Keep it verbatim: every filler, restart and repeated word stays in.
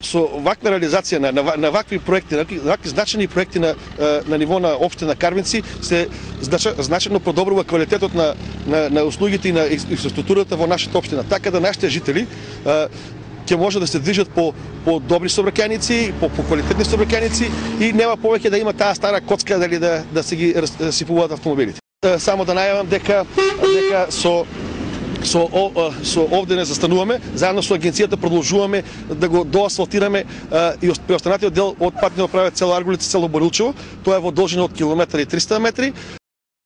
со ваква реализација на, на, на вакви проекти, на вакви значени проекти на, на ниво на општина Карвинци се значајно подобрува квалитетот на, на, на услугите и на инфраструктурата во нашата општина, така да нашите жители ќе може да се движат по по добри сообраќајници, по, по квалитетни сообраќајници и нема повеќе да има таа стара коцка дали да да се ги расипуваат автомобилите. Само да најавам дека дека со со о, со овде не застануваме, заедно со агенцијата продолжуваме да го доасфалтираме и преостанатиот дел од патниот правец цело Аргулица, цело Борилчево. Тоа е во должина од километар и триста метри.